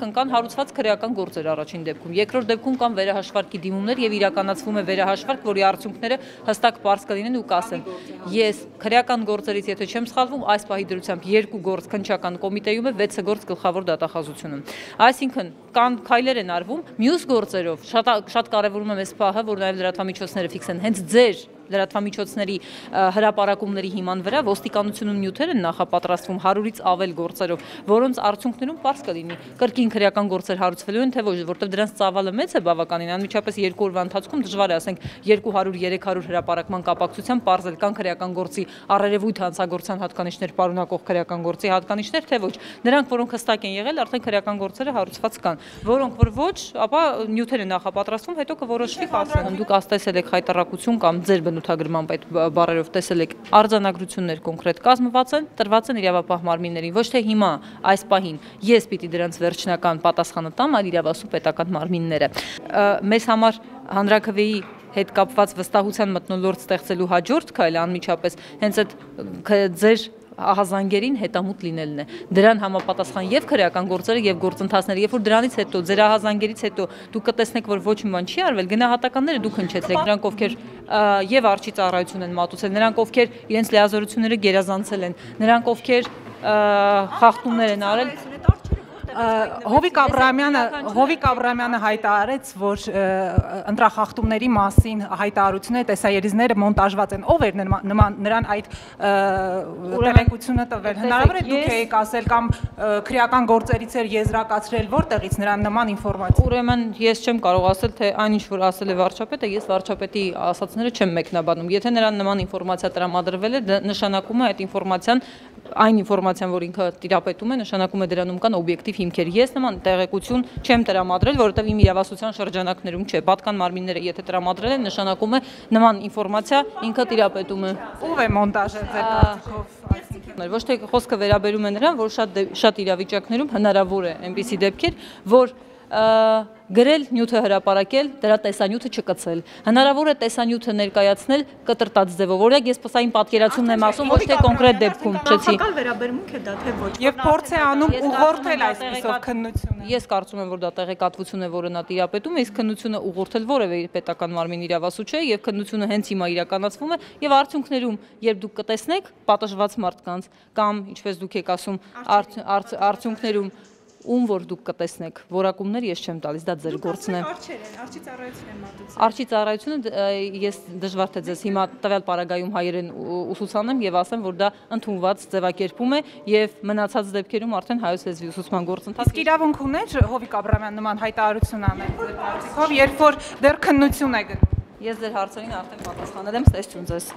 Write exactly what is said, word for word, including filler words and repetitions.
այսինքն կան հարուցված քրեական գործեր առաջին դեպքում, երկրորդ դեպքում կան վերահաշվարկի դիմումներ եւ իրականացվում է վերահաշվարկ, որի արդյունքները հստակ պարզ կլինեն ու կասեն։ Ես քրեական գործերից, եթե չեմ սխալվում, այս պահի դրությամբ երկու գործ քննչական կոմիտեում է, վեցը գործ գլխավոր դատախազությունում։ Այսինքն կան քայլեր են արվում, մյուս գործերով շատ շատ կարևորում եմ այս պահը, որ նաեւ լրատվամիջոցները ֆիքսեն հենց ձեր լրատվամիջոցների հրապարակումների հիման վրա ոստիկանությունում նյութեր են նախապատրաստվում հարյուրից ավել գործերով, որոնց արդյունքներում պարզ կլինի կրկին քրեական գործեր հարուցվելու են, թե ոչ, որտեղ դրանց ծավալը մեծ է բավականին, անմիջապես երկու օրվա ընթացքում դժվար է, ասենք երկու հարյուր երեք հարյուր հրապարակման կապակցությամբ պարզել կան քրեական գործի առերևույթ հանցագործության հատկանիշներ պարունակող քրեական գործի հատկանիշներ, թե ոչ, նրանք, որոնք հստակ են եղել, արդեն քրեական գործերը հարուցված կան, որոնք որ ոչ, ապա նյութեր են նախապատրաստվում, հետո կորոշվի խախտել։ Դուք աստեսել եք հայտարարություն կամ ձեր բնութագրմամբ այդ բառերով տեսել եք արձանագրություններ կոնկրետ կազմված են, տրված են իրավապահ մարմիններին, ոչ թե հիմա այս պահին ես պիտի դրանց վերջնական պատասխանը տամ, այլ իրավասու պետական մարմինները։ Մեզ համար հանրաքվեի հետ կապված վստահության մթնոլորտ ստեղծելու հաջորդ քայլը անմիջապես հենց այդ ձեր ահազանգերին հետամուտ լինելն է։ Դրան համապատասխան եւ քրեական գործերը եւ գործընթացները, երբ որ դրանից հետո ձեր ահազանգերից հետո դուք կտեսնեք, որ ոչ մի բան չի արվել, գնահատականները դուք հնչեցրեք, նրանք ովքեր եւ արչի ծառայություն են մատուցել, նրանք ովքեր իրենց լիազորությունները գերազանցել են, նրանք ովքեր խախտումներ են արել։ Հովիկ Աբրահամյանը Հովիկ Աբրահամյանը հայտարարեց, որ ընտրախախտումների մասին հայտարարությունները, տեսաերիզները մոնտաժված են։ Ով էր նրան այդ տեղեկությունը տվել։ Հնարավոր է դուք եք ասել կամ քրեական գործերից էր եզրակացրել, որտեղից նրան նման ինֆորմացիա։ Ուրեմն ես չեմ կարող ասել, թե այնինչ որ ասել է վարչապետը, ես վարչապետի ասածները չեմ մեկնաբանում։ Եթե նրան նման ինֆորմացիա տրամադրվել է, նշանակում է այդ ինֆորմացիան, այն ինֆորմացիան, որ ինքը տիրապետում է, նշանակում է դրանում կան օբյեկտիվ հիմքեր։ Ես նման տեղեկություն չեմ տրամադրել, որովհետև իմ իրավասության շրջանակներում չէ։ Պատկան մարմինները եթե տրամադրել են, նշանակում է նման ինֆորմացիա ինքը տիրապետում է։ Ով է մոնտաժել ձեր կարծիքով։ Ոչ թե խոսքը վերաբերում է նրան, որ շատ շատ իրավիճակներում հնարավոր է այնպիսի դեպքեր, որ գրել նյութը հրապարակել, դրա տեսանյութը չկցել։ Հնարավոր է տեսանյութը ներկայացնել կտրտած ձևով։ Օրինակ ես պսային պատկերացումն եմ ասում, ոչ թե կոնկրետ դեպքում, չեցի։ Քաղաքական վերաբերմունք է դա թե ոչ։ Եվ փորձ է անում ուղղորդել այսպիսով քննությունը։ Ես կարծում եմ, որ դա տեղեկատվություն է, որը նա տիրապետում է, իսկ քննությունը ուղղորդել որևէ պետական մարմին իրավասու չէ, եւ քննությունը հենց հիմա իրականացվում է, եւ արդյունքներում, երբ դուք կտեսնեք պատժված մարդկանց կամ ինչպես դուք եք ասում, արդյունքներում ում որ դուք կտեսնեք որակումներ ես չեմ տալիս, դա ձեր գործն է։ Արչի ծառայություն եմ մատուցել։ Արչի ծառայությունը ես դժվար թե ձեզ հիմա տվյալ պարագայում հայերեն ուսուցանեմ եւ ասեմ, որ դա ընդունված ձևակերպում է եւ մնացած դեպքերում արդեն հայոց լեզվի ուսուցման գործընթաց։ Իսկ իրավունք ուներ Հովիկ Աբրահամյան նման հայտարարություն անել ձեր կարծիքով, երբ որ դեռ քննություն է գնում։ Ես ձեր հարցերին արդեն պատասխանել եմ, ստեսություն ձեզ։